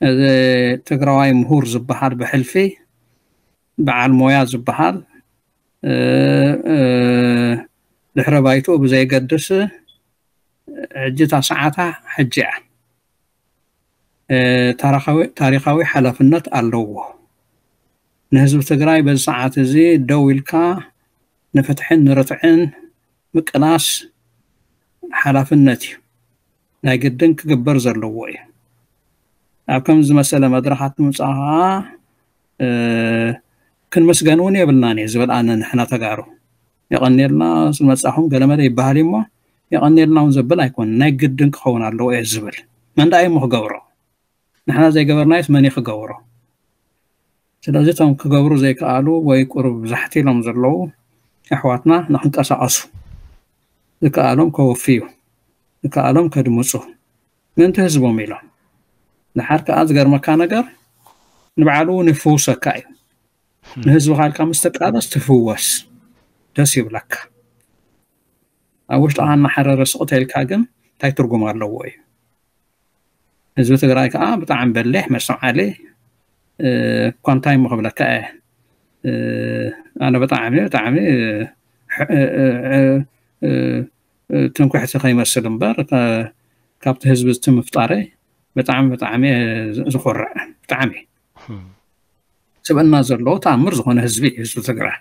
እዚ ትግራዋይ ምሁር ዝበሃል ብሕልፊ በዓል ሞያ ዝበሃል ድሕረ ባይትኡ ብዘየገድስ ሕጂ እታ ሰዓታ ሕጂ እያ። ታሪኻዊ ሓላፍነት ኣለዎ። ንህዝቢ ትግራይ በዚ ሰዓት እዚ ደው ኢልካ ንፍትሕን ንርትዕን ምቅላስ ሓላፍነት እዩ። ናይ ግድን ክግበር ዘለዎ እዩ። ኣብ ከም ዝመሰለ መድረኻት ምምፃእ ከዓ ክንመስገን እውን የብልናን እዩ ዝብል ኣነ ንሕና ተጋሩ። የቐንየልና ስለመፃኹም ገለመለ ይበሃል እሞ የቐንየልና እውን ዘብል ኣይኮን፣ ናይ ግድን ክኸውን ኣለዎ እየ ዝብል። መን ደኣ እሞ ክገብሮ? ንሕና ዘይገበርናዮስ መን እዩ ክገብሮ? ስለዚ እቶም ክገብሩ ዘይከኣሉ ወይ ቁሩብ ዛሕቲ ኢሎም ዘለዉ ኣሕዋትና ንክንቀሳቐሱ ዝከኣሎም ከወፍዩ ዝከኣሎም ከድምፁ ምእንቲ ህዝቦም ኢሎም። ድሓር ከዓ ዝገርመካ ነገር ንባዕሉ እውን ይፍውሰካ እዩ። ንህዝብኻ ኢልካ ምስ ትቃለስ ትፍወስ፣ ደስ ይብለካ። ኣብ ውሽጥኻ እናሓረረ ስቕ ተልካ ግን እንታይ ትርጉም ኣለዎ እዩ? ህዝቢ ትግራይ ከዓ ብጣዕሚ በሊሕ መስተውዓሊ እኳ እንታይ እሞ ክብለካ እየ። ኣነ ብጣዕሚ ብጣዕሚ ትንኩሕቲ ከይመስል እምበር ካብቲ ህዝቢ እቲ ምፍጣረይ ብጣዕሚ ብጣዕሚ ዝኮርዕ ብጣዕሚ ስብእና ዘለዎ ተኣምር ዝኾነ ህዝቢ እዩ ህዝቢ ትግራይ።